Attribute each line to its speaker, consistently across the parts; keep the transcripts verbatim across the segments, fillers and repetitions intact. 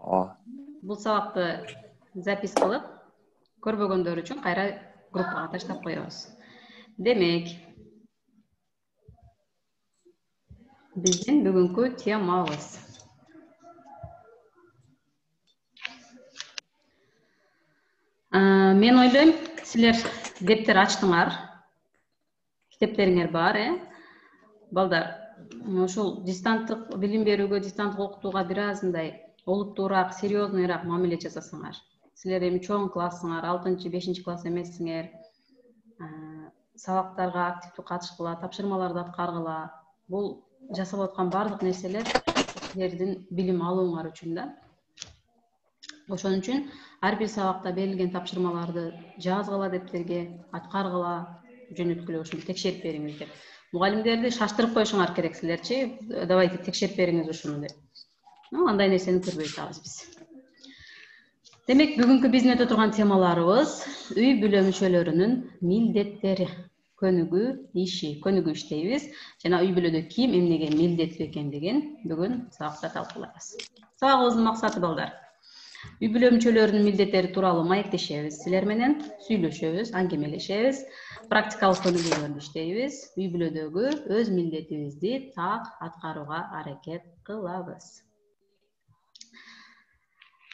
Speaker 1: Ооба.
Speaker 2: Бул сабакты запись кылып, көрбөгөндөр үчүн кайра группага таштап коебуз. Демек, биздин бүгүнкү темабыз мен ойлойм, силер дептер ачтыңар. Китептериңер бар, э? Балдар, ушул дистанттык билим берүүгө, дистанттык окутууга бир аз мындай олуттуураак, серьезныйраак мамиле жасасаңар. Силер эми чоң классыңар, алтынчы, бешинчи класс эмессиңер. Сабактарга активдүү катышкыла, тапшырмаларды аткаргыла. Бул жасап аткан бардык нерселер силердин билим алууңар үчүн да. Ошон үчүн ар бир сабакта берилген тапшырмаларды жазгыла дептерге, аткаргыла, жөнөткүлө, ушуну текшерип бериңиздер. Мугалимдерди шаштырып коюшуңар керек силерчи, давайте текшерип бериңиз ушуну деп. Андай нерсени көрбөй атабыз биз. Демек, бүгүнкү биздин өтө турган темаларыбыз үй бүлө мүчөлөрүнүн милдеттери, көнүгүү иши, көнүгүү иштейбиз жана үй бүлөдө ким эмнеге милдеттүү экендигин бүгүн сабакта талкуулайбыз. Сабагыбыздын максаты, балдар, үй бүлө мүчөлөрүнүн милдеттери тууралуу маектешебиз, силер менен сүйлөшөбүз, аңгемелешебиз, практикалык көнүгүүлөрдү иштейбиз, үй бүлөдөгү өз милдетибизди так аткарууга аракет кылабыз.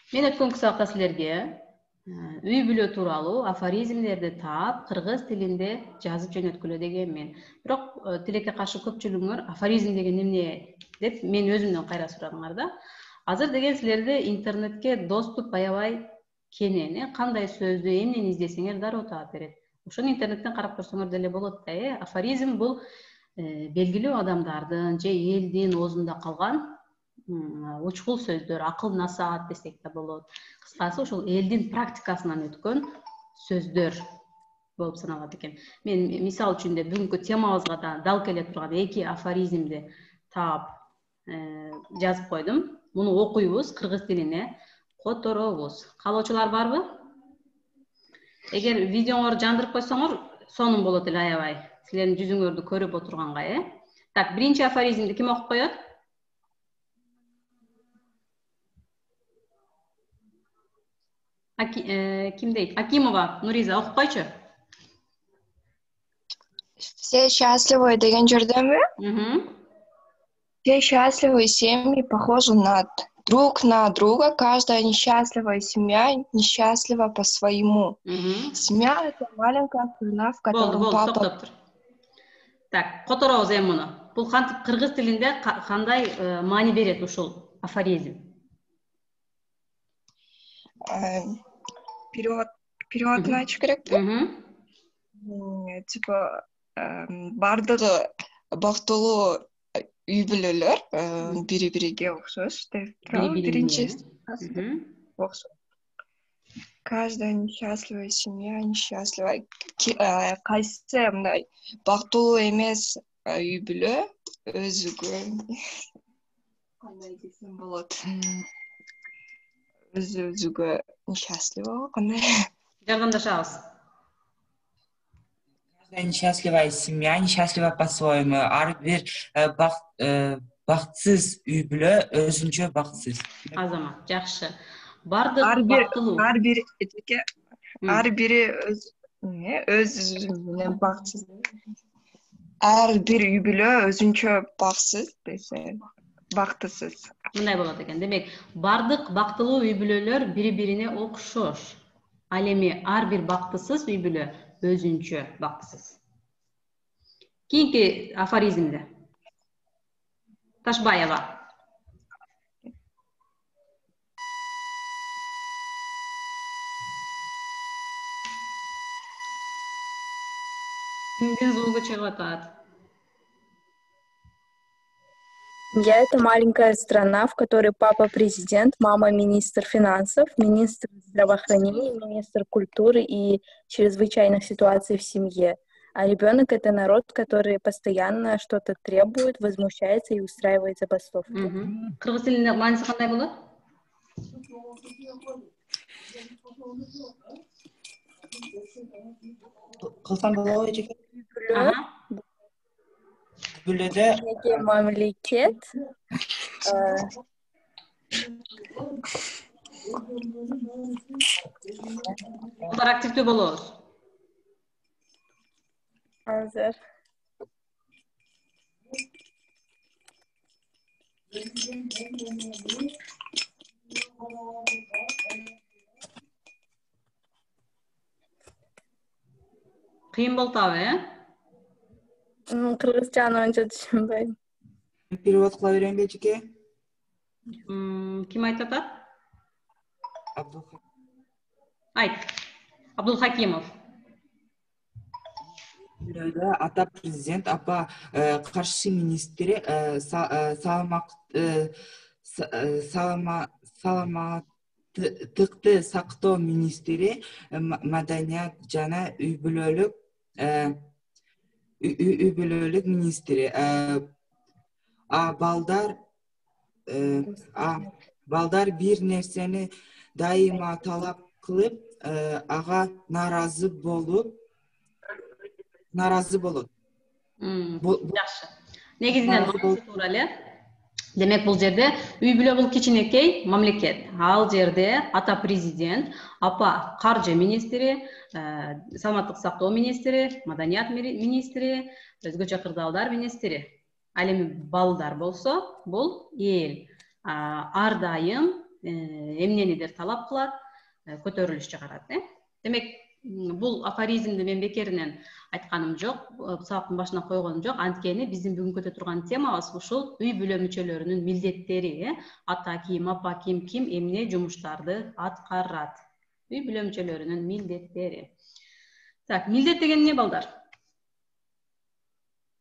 Speaker 2: Мен өткөн сабакта силерге үй бүлө тууралуу афоризмдерди таап, кыргыз тилинде жазып жөнөткүлө дегенмин. Бирок тилекке каршы көпчүлүгүңөр афоризм деген эмне деп мен өзүмдөн кайра сурадыңар да. Азыр деген силерде интернетке доступ аябай кенен, кандай сөздү, эмнени издесеңер дароо таап берет. Ошону интернеттен карап көрсөңөр деле болот да, э? Афоризм бул белгилүү адамдардын же элдин оозунда калган учкул сөздөр, акыл насаат десек да болот. Кыскасы, ушул элдин практикасынан өткөн сөздөр болуп саналат экен. Мен мисал үчүн деп бүгүнкү темабызга да дал келе турган эки афоризмди таап жазып койдум. Муну окуйбуз, кыргыз тилине которобуз. Каалоочулар барбы? Эгер видеоңорду жандырып койсоңор, сонун болот эле аябай. Силердин жүзүңөрдү көрүп отурганга, э? Так, биринчи афоризмди ким окуп коет? Ким дейт? Акимова Нуриза окуп койчу.
Speaker 3: Все счастливы деген жерденби?
Speaker 2: Угу.
Speaker 3: Все счастливые семьи похожи на друг на друга. Каждая несчастливая семья несчастлива по-своему.
Speaker 2: Угу.
Speaker 3: Семья — это маленькая страна, в котором
Speaker 2: Болду,
Speaker 3: папа...
Speaker 2: токтоп тур. Так, которобуз эми муну. Бул кантип кыргыз тилинде кандай маани берет ушул афоризм?
Speaker 3: Перевод, переводун айтыш керекпи? Типа бардыгы бактылуу үй бүлөлөр бири бириге окшош деп турабы, биринчи окшош. Каждая несчастливая семья несчастлива. Кайсы мындай бактылуу эмес үй бүлө өзүгө кандай десем болот? Өзү-өзүгө несчастлива, кандай?
Speaker 2: Жардамдашабыз.
Speaker 4: Несчастливая семья несчастлива по-своему. Ар бир бактсыз үй бүлө өзүнчө бактсыз.
Speaker 2: Азамат, жакшы. Бардык
Speaker 3: бактылуу. Ар бир эчеке, ар бири өз өз менен бактсыз. Ар бир үй бүлө өзүнчө бактсыз десе, бактысыз.
Speaker 2: Мындай болот экен. Демек, бардык бактылуу үй бүлөлөр бири-бирине окшош. Ал эми ар бир бактысыз үй бүлө өзүнчө бактысыз. Кийинки афоризмде. Ташбаева. Кимдин звугу чыгып атат?
Speaker 5: Семья — это маленькая страна, в которой папа президент, мама министр финансов, министр здравоохранения, министр культуры и чрезвычайных ситуаций в семье. А ребенок — это народ, который постоянно что-то требует, возмущается и устраивает забастовки.
Speaker 2: Кыргыз тилинде мааниси кандай болот?
Speaker 4: Кылсам болобу эчеке? Бүлөдө
Speaker 5: мамлекет
Speaker 2: Балдар активдүү болобуз.
Speaker 5: Азыр.
Speaker 2: Кыйын болтабы, э?
Speaker 5: Кыргызчаны анча түшүнбөйм.
Speaker 4: Перевод кыла берейинби эжеке?
Speaker 2: Ким айтып атат?
Speaker 4: Абдулхак.
Speaker 2: Айт. Абдулхакимов.
Speaker 4: Бирөөдө ата президент, апа каршы министри, саламат саламаттыкты сактоо министри, маданият жана үй бүлөлүк үй бүлөлүк министри, а балдар балдар бир нерсени дайыма талап кылып, ага нааразы болуп нааразы болот.
Speaker 2: Жакшы. Негизинен маңызы туура эле. Демек бул жерде үй бүлө бул кичинекей мамлекет. Ал жерде ата президент, апа каржы министри, саламаттык сактоо министри, маданият министри, өзгөчө кырдаалдар министри. Ал эми балдар болсо, бул эл ар дайым эмненидир талап кылат, көтөрүлүш чыгарат, э? Демек, бул афоризмди мен бекеринен айтканым жок, сабактын башына койгонум жок. Анткени биздин бүгүнкү көтөрүп турган темабыз ушул үй бүлө мүчөлөрүнүн милдеттери, э? Ата ким, апа ким, ким эмне жумуштарды аткарат. Үй бүлө мүчөлөрүнүн милдеттери. Так, милдет деген эмне, балдар?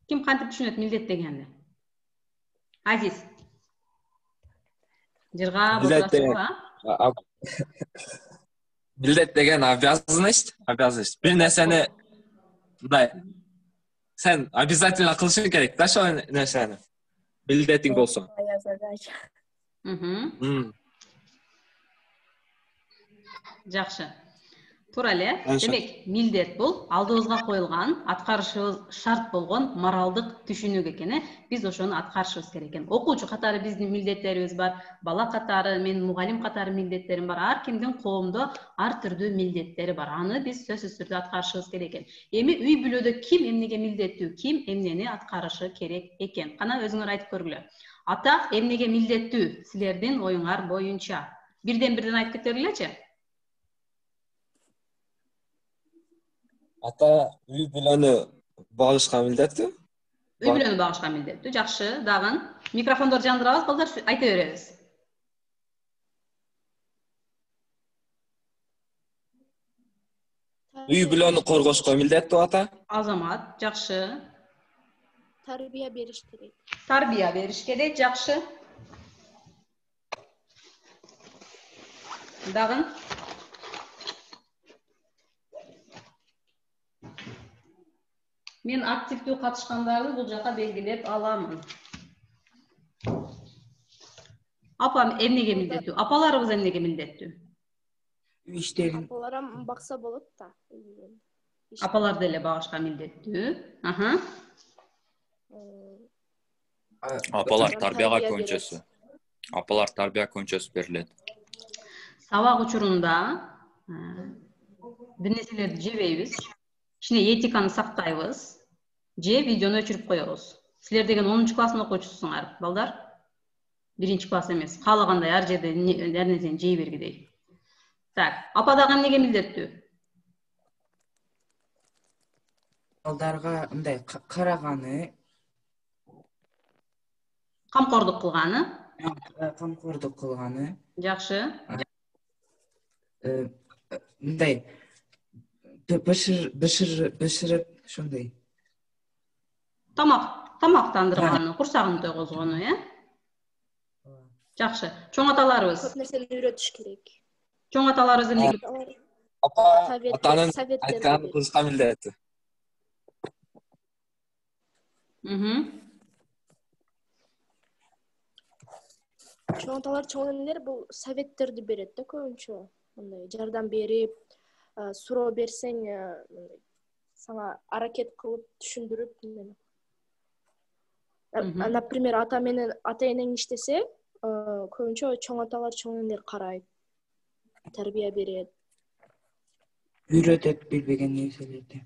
Speaker 2: Ким кантип түшүнөт милдет дегенди? Азиз. Жыргап отурасызбы, а?
Speaker 1: Милдет деген обязанность, обязанность. Бир нерсени мындай сен обязательно кылышың керек да ошол нерсени. Милдетиң болсо.
Speaker 2: Мм. Жакшы. Туура эле. Демек, милдет бул алдыбызга коюлган, аткарышыбыз шарт болгон моралдык түшүнүк экен, э? Биз ошону аткарышыбыз керек экен. Окуучу катары биздин милдеттерибиз бар, бала катары, мен мугалим катары милдеттерим бар. Ар кимдин коомдо ар түрдүү милдеттери бар. Аны биз сөзсүз түрдө аткарышыбыз керек экен. Эми үй бүлөдө ким эмнеге милдеттүү, ким эмнени аткарышы керек экен? Кана өзүңөр айтып көргүлө. Ата эмнеге милдеттүү? Силердин оюңар боюнча. Бирден бирден айтып кетергилечи.
Speaker 1: Ата үй бүлөнү багышка милдеттүү.
Speaker 2: Үй бүлөнү багышка милдеттүү. Жакшы, дагы микрофондорду жандырабыз, балдар, айта беребиз.
Speaker 1: Үй бүлөнү коргошко милдеттүү ата.
Speaker 2: Азамат, жакшы.
Speaker 6: Тарбия бериш керек.
Speaker 2: Тарбия бериш керек, жакшы. Дагы мен активдүү катышкандарды бул жака белгилеп аламын. Апа эмнеге милдеттүү? Апаларыбыз эмнеге милдеттүү?
Speaker 4: Үй иштерин.
Speaker 6: Апаларым бакса болот да.
Speaker 2: Апалар деле багышка милдеттүү. Аха.
Speaker 7: Апалар тарбияга көңчөсү. Апалар тарбия көңчөсү берилет.
Speaker 2: Сабак учурунда бир нерселерди жебейбиз. Кичине этиканы сактайбыз. Же видеону өчүрүп коебуз. Силер деген онунчу класстын окуучусуңар, балдар. Биринчи класс эмес. Каалагандай ар жерде ар нерсени жей бергидей. Так, апа дагы эмнеге милдеттүү?
Speaker 4: Балдарга мындай караганы,
Speaker 2: камкордук кылганы.
Speaker 4: камкордук кылганы.
Speaker 2: Жакшы.
Speaker 4: Мындай бышыр бышыр бышырып ошондой.
Speaker 2: Тамак, тамактандырганы, курсагын тойгозгону, э? Жакшы. Чоң аталарыбыз.
Speaker 6: Көп нерсени үйрөтүш керек.
Speaker 2: Чоң аталарыбыз эмнеге?
Speaker 1: Апа атанын айтканын кылышка милдеттүү.
Speaker 2: Мхм.
Speaker 6: Чоң аталар, чоң энелер бул советтерди берет да көбүнчө. Мындай жардам берип, суроо берсең, сага аракет кылып түшүндүрүп. Например, ата менен ата энең иштесе, көбүнчө чоң аталар, чоң энелер карайт, тарбия берет.
Speaker 4: Үйрөтөт билбеген нерселерди.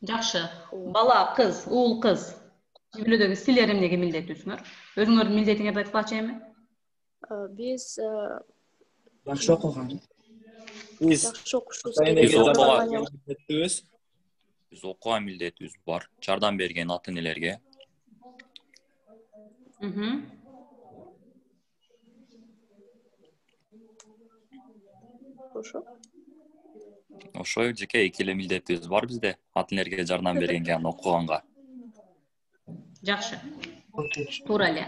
Speaker 2: Жакшы. Бала, кыз, уул, кыз. Үй бүлөдөгү силер эмнеге милдеттүүсүңөр? Өзүңөрдүн милдетиңерди айтып калчымы?
Speaker 6: Биз
Speaker 4: Жакшы окуган.
Speaker 1: Биз
Speaker 6: жакшы окушубуз
Speaker 7: Биз
Speaker 6: керек.
Speaker 7: окуган Биз окуган милдетибиз бар. Жардам берген ата энелерге.
Speaker 2: Мхм.
Speaker 6: Ошо.
Speaker 7: Ошо жеке эки эле милдетибиз бар бизде. Ата энелерге жардам бергенге, аны окуганга.
Speaker 2: Жакшы. Туура эле.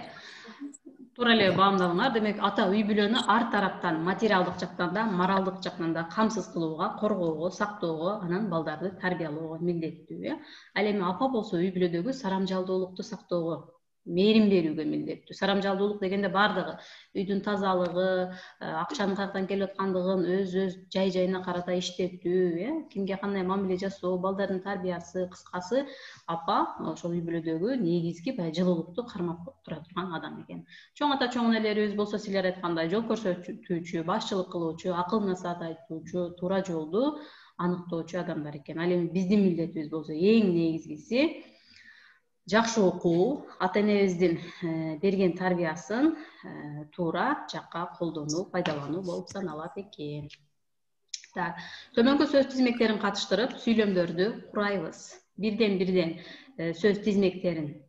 Speaker 2: Туура эле баамдадыңар. Демек, ата үй бүлөнү ар тараптан, материалдык жактан да, моралдык жактан да камсыз кылууга, коргоого, сактоого, анан балдарды тарбиялоого милдеттүү, э? Ал эми апа болсо үй бүлөдөгү сарамжалдуулукту сактоого, мээрим берүүгө милдеттүү. Сарамжалдуулук дегенде бардыгы үйдүн тазалыгы, акчанын каяктан келип аткандыгын өз-өз жай-жайына карата иштетүү, э? Кимге кандай мамиле жасоо, балдардын тарбиясы, кыскасы апа ошол үй бүлөдөгү негизги баягы жылуулукту кармап тура турган адам экен. Чоң ата, чоң энелерибиз болсо силер айткандай жол көрсөтүүчү, башчылык кылуучу, акыл насаат айтуучу, туура жолду аныктоочу адамдар экен. Ал эми биздин милдетибиз болсо эң негизгиси жакшы окуу, ата энебиздин берген тарбиясын туура жакка колдонуу, пайдалануу болуп саналат экен. Так, төмөнкү сөз тизмектерин катыштырып, сүйлөмдөрдү курайбыз. Бирден-бирден сөз тизмектерин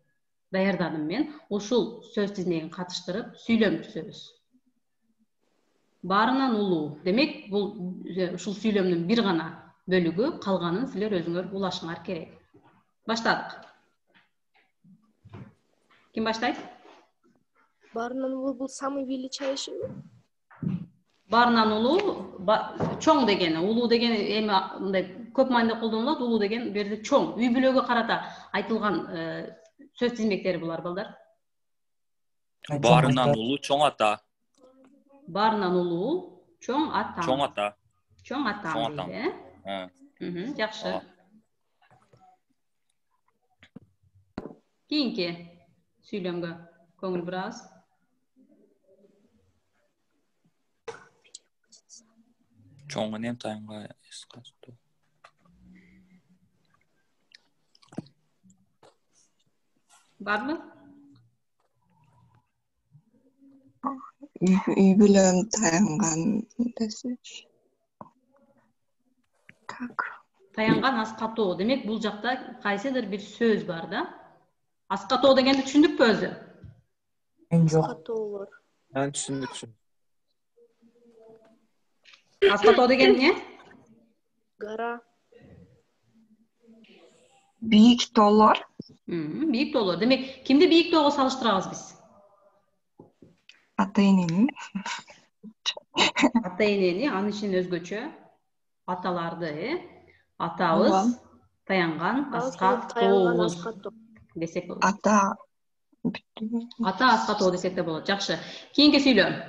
Speaker 2: даярдадым мен. Ушул сөз тизмегин катыштырып, сүйлөм түзөбүз. Баарынан улуу. Демек, бул ушул сүйлөмдүн бир гана бөлүгү, калганын силер өзүңөр улашыңар керек. Баштадык. Ким баштайт?
Speaker 6: Баарынан улуу бул самый величайший.
Speaker 2: Баарынан улуу, чоң дегени, улуу деген эми мындай көп маанидә колдонулат, улуу деген берде чоң, үй бүлөгө карата айтылган сөз тизмектери булар балдар.
Speaker 7: Баарынан улуу чоң ата.
Speaker 2: Баарынан улуу чоң ата.
Speaker 7: Чоң ата.
Speaker 2: Чоң ата дейди, э? Мхм, жакшы. Кийинки сүйлөмгө көңүл бурабыз.
Speaker 7: Чоң энем таянга эс кастуу.
Speaker 2: Барбы?
Speaker 3: Үй бүлөм таянган десеч. Так.
Speaker 2: Таянган аскатоо. Демек, бул жакта кайсыдыр бир сөз бар да? Аскатоо дегенди түшүндүкпү өзү?
Speaker 4: Мен жок.
Speaker 6: Аскатоолор.
Speaker 1: Мен түшүндүк, түшүндүк.
Speaker 2: Аскатоо деген эмне?
Speaker 6: Гара.
Speaker 3: Бийик тоолор.
Speaker 2: Бийик тоолор. Демек, кимди бийик тоого салыштырабыз биз?
Speaker 3: Ата энени.
Speaker 2: Ата энени, анын ичинен өзгөчө аталарды, э? Атабыз таянган аскатоо десек болот.
Speaker 3: Ата
Speaker 2: Ата аскатоо десек да болот. Жакшы. Кийинки сүйлөм.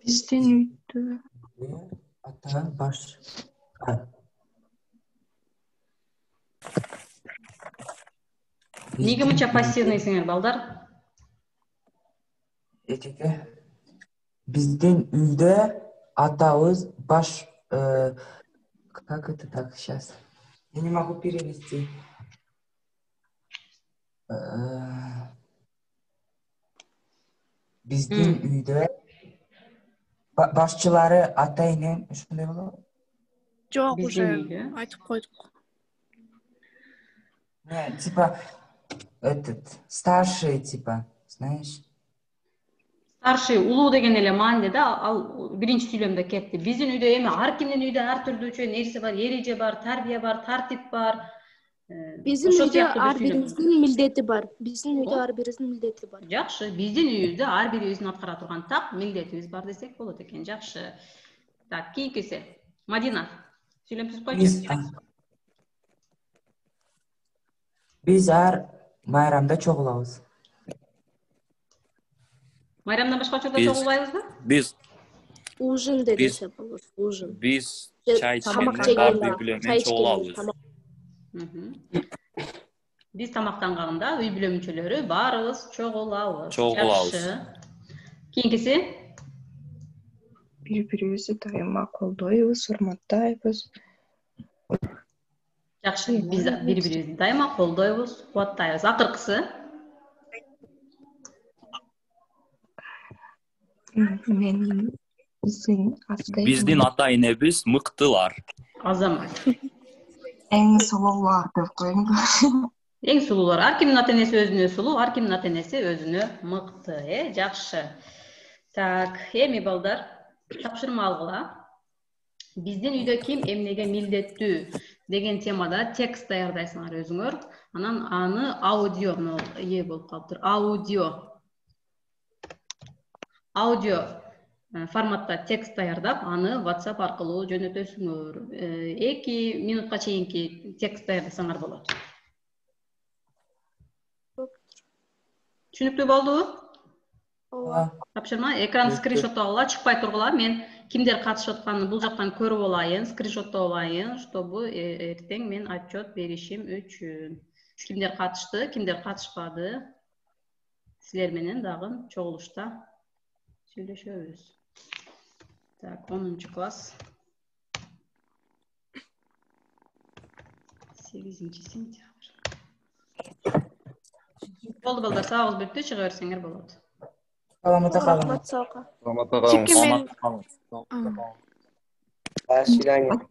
Speaker 3: Биздин үйдө
Speaker 4: ата баш.
Speaker 2: Эмнеге мынча пассивныйсыңар, балдар?
Speaker 4: Этеке. Биздин үйдө атабыз баш, как это так сейчас? Я не могу перевести. Биздин үйдө башчылары ата энем ушундай болобу?
Speaker 6: Жок, уже айтып койдук.
Speaker 4: Не, типа этот старший, типа, знаешь?
Speaker 2: Старший, улуу деген эле маанде да, ал биринчи сүйлөмдө кетти. Биздин үйдө эми ар кимдин үйдө ар түрдүүчө нерсе бар, эреже бар, тарбия бар, тартип бар.
Speaker 6: Биздин үйдө ар бирибиздин милдети бар. Биздин үйдө ар бирибиздин милдети бар.
Speaker 2: Жакшы, биздин үйдө ар бирибиздин аткара турган так милдетибиз бар десек болот экен. Жакшы. Так, кийинкиси. Мадина, сүйлөм түзүп койчу.
Speaker 4: Биз ар майрамда чогулабыз.
Speaker 2: Майрамдан башка учурда чогулбайбызбы?
Speaker 7: Биз
Speaker 6: ужин деп десе болот. Ужин.
Speaker 7: Биз чай ичкенде бар үй бүлө менен чогулабыз.
Speaker 2: Биз тамактанганда үй бүлө мүчөлөрү баарыбыз чогулабыз.
Speaker 7: Чогулабыз.
Speaker 2: Кийинкиси
Speaker 3: Бири-бирибизди дайыма колдойбуз, урматтайбыз.
Speaker 2: жакшы, биз бири-бирибизди дайыма колдойбуз, кубаттайбыз. Акыркысы
Speaker 3: Мен биздин ата
Speaker 7: Биздин ата энебиз мыктылар.
Speaker 2: Азамат.
Speaker 3: эң сулуулар деп коеюңбу?
Speaker 2: Эң сулуулар. Ар кимдин ата энеси өзүнө сулуу, ар кимдин ата энеси өзүнө мыкты, э? Жакшы. Так, эми балдар, тапшырма алгыла. Биздин үйдө ким эмнеге милдеттүү деген темада текст даярдайсыңар өзүңөр. Анан аны аудио ээ болуп калыптыр. Аудио. Аудио форматта текст даярдап, аны WhatsApp аркылуу жөнөтөсүңөр. эки минутка чейинки текст даярдасаңар болот. Түшүнүктүү болдубу?
Speaker 6: Ооба.
Speaker 2: Тапшырма экран скриншот алгыла, чыкпай тургула. Мен кимдер катышып атканын бул жактан көрүп алайын, скриншот алайын, чтобы эртең мен отчет беришим үчүн. Кимдер катышты, кимдер катышпады? Силер менен дагы чогулушта сүйлөшөбүз. Так, онунчу класс. сегизинчи сентябрь. Болду балдар, сабагыбыз бүттү, чыга берсеңер болот.
Speaker 4: Саламатта калыңыз.
Speaker 6: Рахмат, сау калыңыз.
Speaker 8: Саламатта
Speaker 6: Чеки
Speaker 8: калыңыз.
Speaker 6: мен
Speaker 8: До свидания.